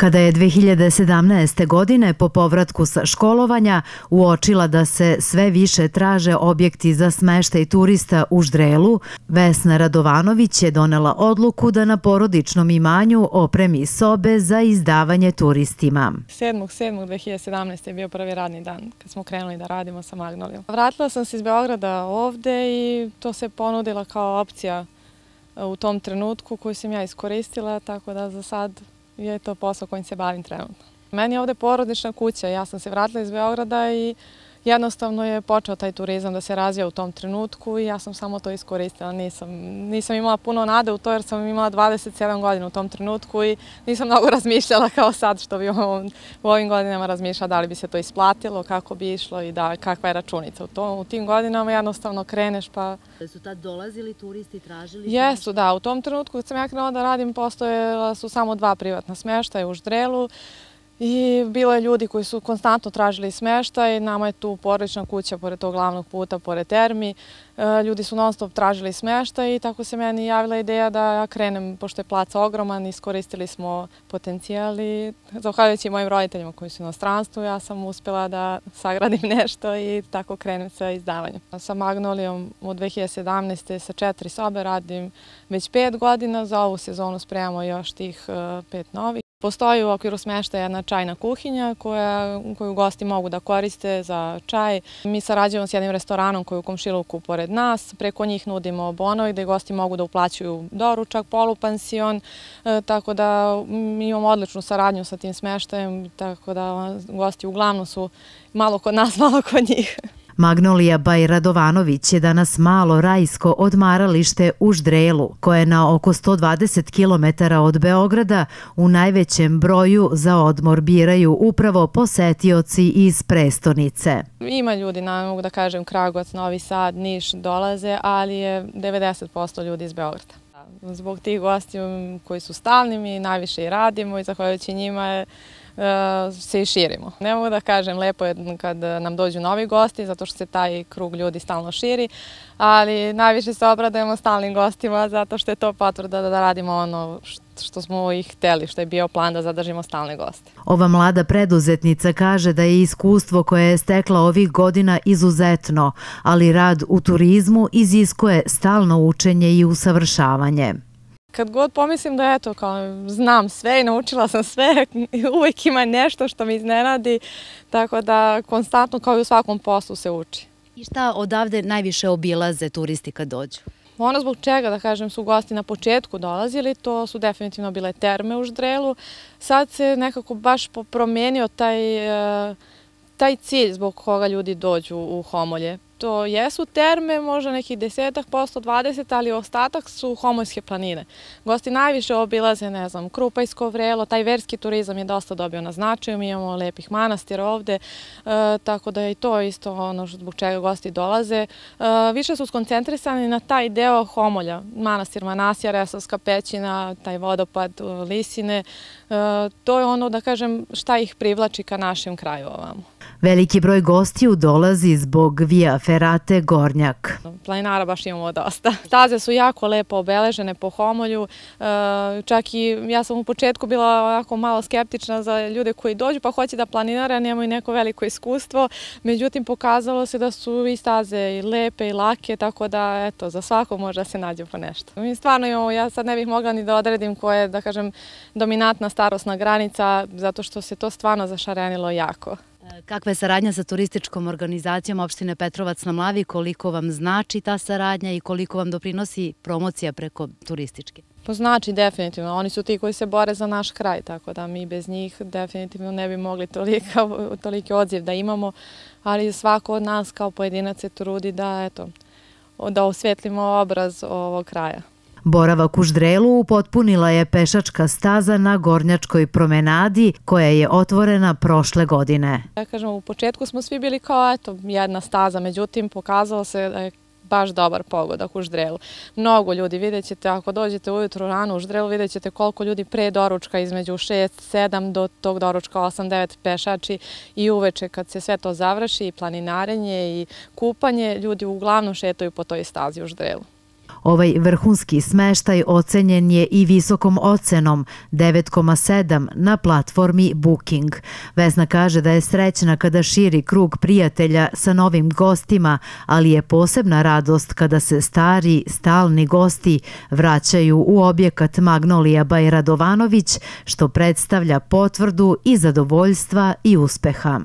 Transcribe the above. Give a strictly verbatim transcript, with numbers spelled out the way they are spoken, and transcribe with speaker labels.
Speaker 1: Kada je dve hiljade sedamnaeste. godine po povratku sa školovanja uočila da se sve više traže objekti za smeštaj turista u Ždrelu, Vesna Radovanović je donela odluku da na porodičnom imanju opremi sobe za izdavanje turistima.
Speaker 2: sedmog sedmog dve hiljade sedamnaeste. je bio prvi radni dan kad smo krenuli da radimo sa Magnolijom. Vratila sam se iz Beograda ovde i to se ponudila kao opcija u tom trenutku koju sam ja iskoristila, tako da za sad je to posao kojim se bavim trenutno. Meni je ovde porodična kuća, ja sam se vratila iz Beograda i jednostavno je počeo taj turizam da se razvija u tom trenutku i ja sam samo to iskoristila. Nisam, nisam imala puno nade u to jer sam imala dvadeset sedam godina u tom trenutku i nisam mnogo razmišljala kao sad što bi u ovim godinama razmišljala da li bi se to isplatilo, kako bi išlo i da, kakva je računica. U, to, u tim godinama jednostavno kreneš pa...
Speaker 3: Su tad dolazili turisti, tražili?
Speaker 2: Jesu, da. U tom trenutku kad sam ja krenula da radim postojala su samo dva privatna smještaja u Ždrelu. I bilo je ljudi koji su konstantno tražili smještaj, nama je tu porodična kuća pored tog glavnog puta, pored termi. Ljudi su non stop tražili smještaj i tako se meni javila ideja da ja krenem, pošto je plac ogroman, iskoristili smo potencijal i zahvaljujući mojim roditeljima koji su u inostranstvu, ja sam uspjela da sagradim nešto i tako krenem sa izdavanjem. Sa Magnolijom od dve hiljade sedamnaeste. sa četiri sobe radim već pet godina, za ovu sezonu spremamo još tih pet novih. Postoji u okviru smještaja jedna čajna kuhinja koja, koju gosti mogu da koriste za čaj. Mi sarađujemo s jednim restoranom koji je u komšiluku pored nas. Preko njih nudimo bonovi gde gosti mogu da uplaćuju doručak, polupansion, e, tako da mi imamo odličnu saradnju sa tim smještajem, tako da gosti uglavnom su malo kod nas, malo kod njih.
Speaker 1: Magnolija by Radovanović je danas malo rajsko odmaralište u Ždrelu, koje je na oko sto dvadeset kilometara od Beograda u najvećem broju za odmor biraju upravo posetioci iz prestonice.
Speaker 2: Ima ljudi, mogu da kažem, Kragujevac, Novi Sad, Niš dolaze, ali je devedeset posto ljudi iz Beograda. Zbog tih gosti koji su stalni mi najviše i radimo i zahvaljujući njima je se i širimo. Ne mogu da kažem, lepo je kad nam dođu novi gosti, zato što se taj krug ljudi stalno širi, ali najviše se obradujemo stalnim gostima, zato što je to potvrda da radimo ono što smo ih hteli, što je bio plan da zadržimo stalne goste.
Speaker 1: Ova mlada preduzetnica kaže da je iskustvo koje je stekla ovih godina izuzetno, ali rad u turizmu iziskuje stalno učenje i usavršavanje.
Speaker 2: Kad god pomislim da eto, kao, znam sve i naučila sam sve, uvijek ima nešto što me iznenadi, tako da konstantno kao i u svakom poslu se uči.
Speaker 3: I šta odavde najviše obilaze turisti kad dođu?
Speaker 2: Ono zbog čega, da kažem, su gosti na početku dolazili, to su definitivno bile terme u Ždrelu. Sad se nekako baš promijenio taj, taj cilj zbog koga ljudi dođu u Homolje. To jesu terme, možda nekih desetak posto, dvadeset, ali ostatak su Homoljske planine. Gosti najviše obilaze, ne znam, Krupajsko vrelo, taj verski turizam je dosta dobio na značaju, mi imamo lepih manastira ovde, e, tako da je i to isto ono zbog čega gosti dolaze. E, više su skoncentrisani na taj deo Homolja, manastir Manasija, Resavska pećina, taj vodopad Lisine, e, to je ono, da kažem, šta ih privlači ka našem kraju ovamo.
Speaker 1: Veliki broj gostiju dolazi zbog Via Ferrate Gornjak.
Speaker 2: Planinara baš imamo dosta. Staze su jako lepo obeležene po Homolju. Čak i ja sam u početku bila ovako malo skeptična za ljude koji dođu pa hoće da planinare, nemaju neko veliko iskustvo. Međutim, pokazalo se da su i staze i lepe i lake, tako da eto, za svako može da se nađe po nešto. Mi stvarno imamo, ja sad ne bih mogla ni da odredim koja je, da kažem, dominantna starosna granica, zato što se to stvarno zašarenilo jako.
Speaker 3: Kakva je saradnja sa turističkom organizacijom opštine Petrovac na Mlavi, koliko vam znači ta saradnja i koliko vam doprinosi promocija preko turističke?
Speaker 2: To znači definitivno, oni su ti koji se bore za naš kraj, tako da mi bez njih definitivno ne bi mogli toliki odziv da imamo, ali svako od nas kao pojedinac se trudi da, eto, da osvetlimo obraz ovog kraja.
Speaker 1: Boravak u Ždrelu upotpunila je pešačka staza na Gornjačkoj promenadi koja je otvorena prošle godine.
Speaker 2: Ja kažem, u početku smo svi bili kao eto, jedna staza, međutim pokazalo se da je baš dobar pogodak u Ždrelu. Mnogo ljudi, vidjet ćete, ako dođete ujutru rano u Ždrelu, vidjet ćete koliko ljudi pre doručka između šest sedam do tog doručka osam devet pešači i uveče kad se sve to završi, i planinarenje i kupanje, ljudi uglavnom šetaju po toj stazi u Ždrelu.
Speaker 1: Ovaj vrhunski smeštaj ocenjen je i visokom ocenom devet zarez sedam na platformi Booking. Vesna kaže da je srećna kada širi krug prijatelja sa novim gostima, ali je posebna radost kada se stari, stalni gosti vraćaju u objekat Magnolia by Radovanović, što predstavlja potvrdu i zadovoljstva i uspeha.